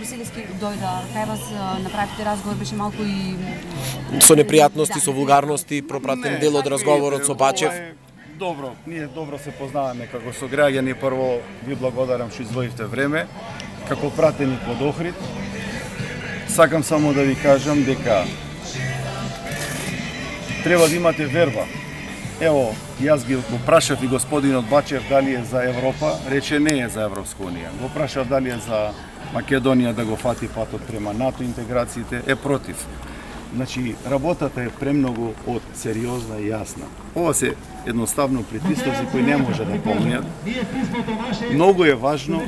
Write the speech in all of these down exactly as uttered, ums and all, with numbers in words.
Брусилевски дојде кај вас, направите разговор, беше малку и со непријатности, со вулгарности, пропратен дел од разговорот со Бачев. Добро, ние добро се познаваме како со граѓани. Прво ви благодарам што издвоивте време како пратеник од Охрид. Сакам само да ви кажам дека треба да имате верба. Ево, јас ги го прашав и господинот Бачев дали е за Европа, рече не е за Европска унија. Го прашав дали е за Македонија да го фати патот према НАТО интеграциите, е против. Значи, работата е премногу од сериозна и јасна. Ова се едноставно притисковци кои не може да помнат. Многу е важно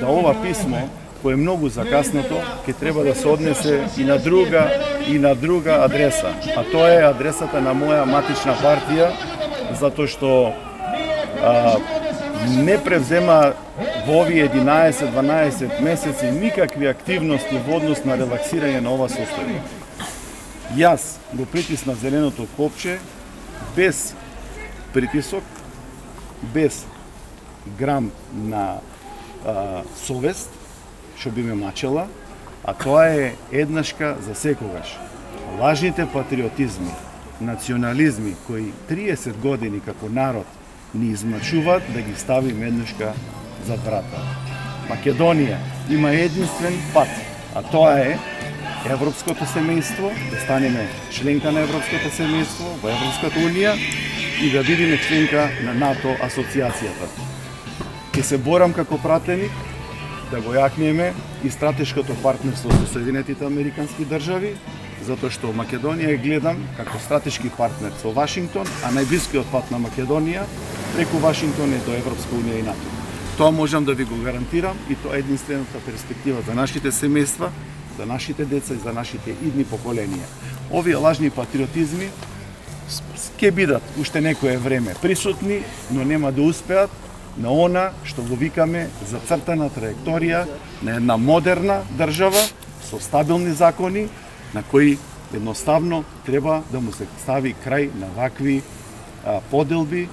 да ова писмо, кој е многу закасното, ќе треба да се однесе и на друга и на друга адреса. А тоа е адресата на моја матична партија, затоа што а, не превзема во овие единаесет дванаесет месеци никакви активности во однос на релаксирање на ова состојба. Јас го притиснав зеленото копче без притисок, без грам на а, совест, што би ме мачела, а тоа е еднашка за секогаш. Лажните патриотизми, национализми кои триесет години како народ ни измачуваат, да ги ставим еднашка за врата. Македонија има единствен пат, а тоа е европското семејство, да станеме членка на европското семејство, во Европската унија и да бидеме членка на НАТО асоциацијата. Ќе се борам како пратеник да го јакнеме и стратешкото партнерство со Соединетите Американски држави, затоа што Македонија е гледам како стратешки партнер со Вашингтон, а најблискиот пат на Македонија преку Вашингтон е до Европска унија и НАТО. Тоа можам да ви го гарантирам и тоа е единствената перспектива за нашите семејства, за нашите деца и за нашите идни поколенија. Овие лажни патриотизми ќе бидат уште некое време присутни, но нема да успеат на она што го викаме зацртана траекторија на една модерна држава со стабилни закони, на кои едноставно треба да му се стави крај на вакви а, поделби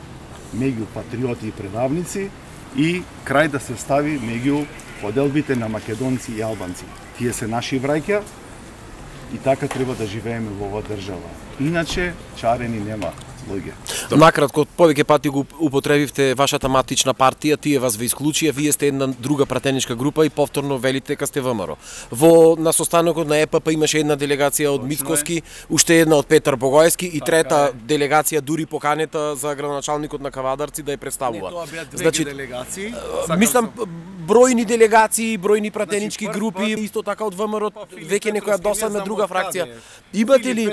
меѓу патриоти и предавници и крај да се стави меѓу поделбите на македонци и албанци. Тие се наши браќа и така треба да живееме во оваа држава. Иначе чарени нема луѓе. Накратко, повеќе пати го употребивте вашата матична партија, тие вас ве исклучија, вие сте една друга пратеничка група и повторно велите дека сте ВМРО. Во на состанокот на Е П П имаше една делегација од Мицкоски, уште една од Петар Богоевски и трета делегација дури поканета за градоначалникот на Кавадарци да ја представува. Не, тоа беа две значи, делегации. Мислам бројни делегации, бројни пратенички значи, групи, исто така од ВМРО, веќе некоја досадна друга фракција. Имате ли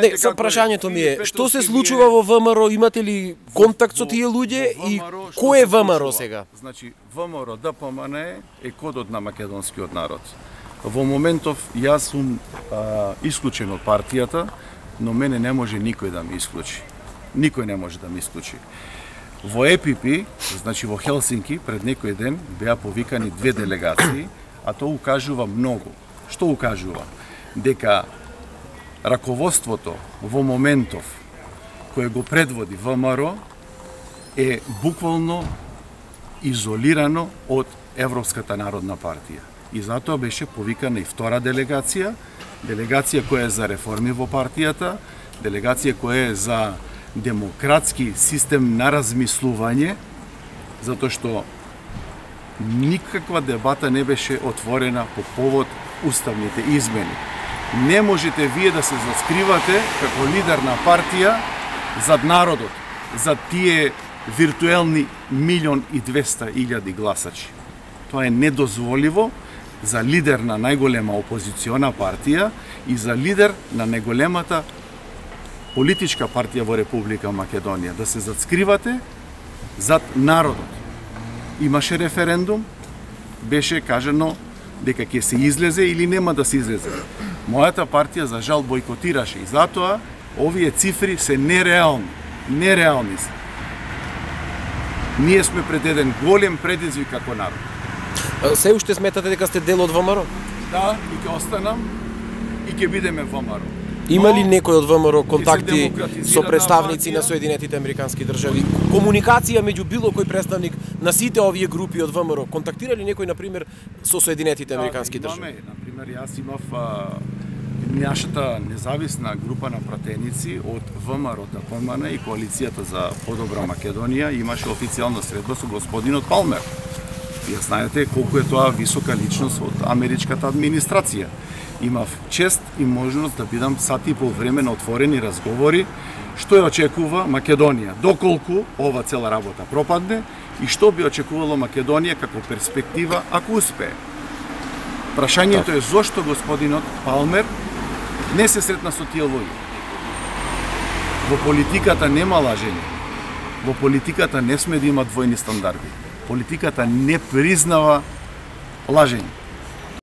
Не, сам прашањето ми е, што се случува во ВМРО, имате ли контакт со тие луѓе и кој е ВМРО сега? Значи, ВМРО Д П М Н е кодот на македонскиот народ. Во моментов јас сум а, исклучен од партијата, но мене не може никој да ме исклучи. Никој не може да ме исклучи. Во Е Пи Пи, значи во Хелсинки, пред некој ден беа повикани две делегации, а тоа укажува многу. Што укажува? Дека раководството во моментов кој го предводи ВМРО е буквално изолирано од Европската народна партија. И затоа беше повикана и втора делегација, делегација која е за реформи во партијата, делегација која е за демократски систем на размислување, затоа што никаква дебата не беше отворена по повод уставните измени. Не можете вие да се заскривате како лидер на партија зад народот, зад тие виртуелни милион и двеста илјади гласачи. Тоа е недозволиво за лидер на најголема опозициона партија и за лидер на најголемата политичка партија во Република Македонија. Да се заскривате зад народот. Имаше референдум, беше кажано дека ќе се излезе или нема да се излезе. Мојата партија за жал бойкотираше и затоа овие цифри се нереални. Нереални се. Ние сме пред еден голем предизвик како народ. Се уште сметате дека сте дел од ВМРО? Да, и ќе останам и ќе бидеме ВМРО. Има Но, ли некој од ВМРО контакти демократизирана со представници партија. на Соединетите Американски држави? Комуникација меѓу било кој представник на сите овие групи од ВМРО? Контактира ли некој, например, со Соединетите Американски Да, држави? имаме, например, јас имав а, нашата независна група на пратеници од ВМРО, ТПМН и Коалицијата за подобра Македонија имаше официјална средба со господинот Палмер. Ја знаете колку е тоа висока личност од америчката администрација. Имав чест и можност да бидам сати и пол време на отворени разговори што ја очекува Македонија, доколку ова цела работа пропадне и што би очекувало Македонија како перспектива ако успее. Прашањето е зошто господинот Палмер не се сретна со тие луѓе. Во политиката нема лажење. Во политиката не сме да има двојни стандарди. Политиката не признава лажење.